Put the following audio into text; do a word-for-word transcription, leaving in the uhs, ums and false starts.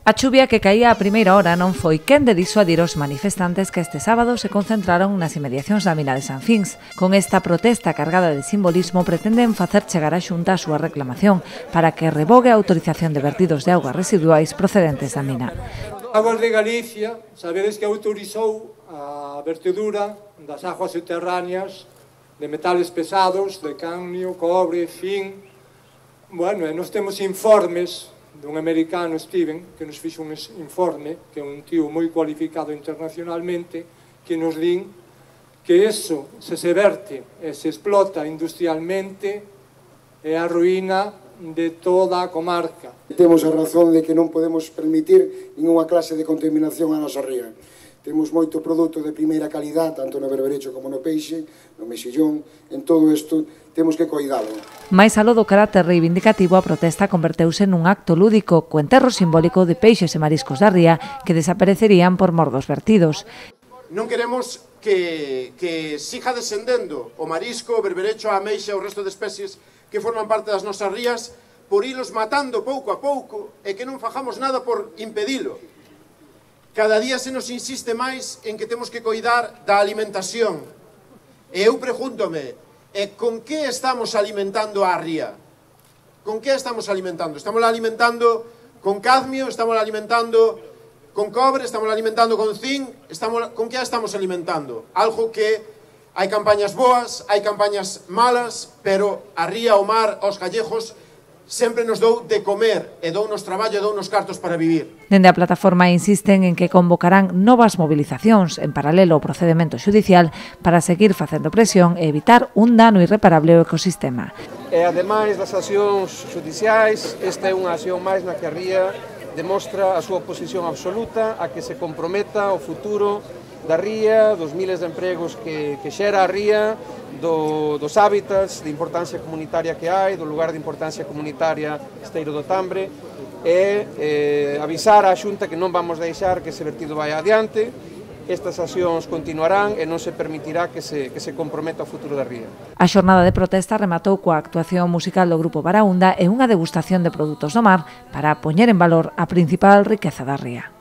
A chuvia que caía a primeira hora non foi quen de disuadir os manifestantes que este sábado se concentraron nas inmediacións da mina de San Fins. Con esta protesta cargada de simbolismo pretenden facer chegar á Xunta a súa reclamación para que revogue a autorización de vertidos de augas residuais procedentes da mina. Aguas de Galicia, sabedes que autorizou a vertedura das aguas subterráneas de metales pesados, de cadmio, cobre, zinc. Bueno, e nós temos informes dun americano, Steven, que nos fixo un informe, que é un tío moi cualificado internacionalmente, que nos din que eso, se se verte e se explota industrialmente, é a ruína de toda a comarca. Temos a razón de que non podemos permitir ninguna clase de contaminación a nosa ría. Temos moito produto de primeira calidad, tanto no berberecho como no peixe, no mexillón, en todo isto temos que coidalo. Mais aló do carácter reivindicativo, a protesta converteuse nun acto lúdico, co enterro simbólico de peixes e mariscos da ría que desaparecerían por mor dos vertidos. Non queremos que, que siga descendendo o marisco, o berberecho, a ameixa, o resto de especies que forman parte das nosas rías, por ilos matando pouco a pouco e que non fajamos nada por impedilo. Cada día se nos insiste máis en que temos que coidar da alimentación. E eu pregúntome, e con que estamos alimentando a ría? Con que estamos alimentando? Estamos alimentando con cadmio, estamos alimentando con cobre, estamos alimentando con zinc, estamos, con que estamos alimentando? Algo que hai campañas boas, hai campañas malas, pero a ría, o mar, os callejos sempre nos dou de comer e dou nos traballo e dou nos cartos para vivir. Dende a plataforma insisten en que convocarán novas movilizacións en paralelo ao procedemento xudicial para seguir facendo presión e evitar un dano irreparable ao ecosistema. E ademais das accións xudiciais, esta é unha acción máis na que a ría demostra a súa oposición absoluta a que se comprometa o futuro da ría, dos miles de empregos que, que xera a ría, do, dos hábitats de importancia comunitaria que hai, do lugar de importancia comunitaria Esteiro do Tambre, e eh, avisar á Xunta que non vamos deixar que ese vertido vai adiante. Estas accións continuarán e non se permitirá que se, que se comprometa o futuro da ría. A xornada de protesta rematou coa actuación musical do Grupo Baraúnda e unha degustación de produtos do mar para poñer en valor a principal riqueza da ría.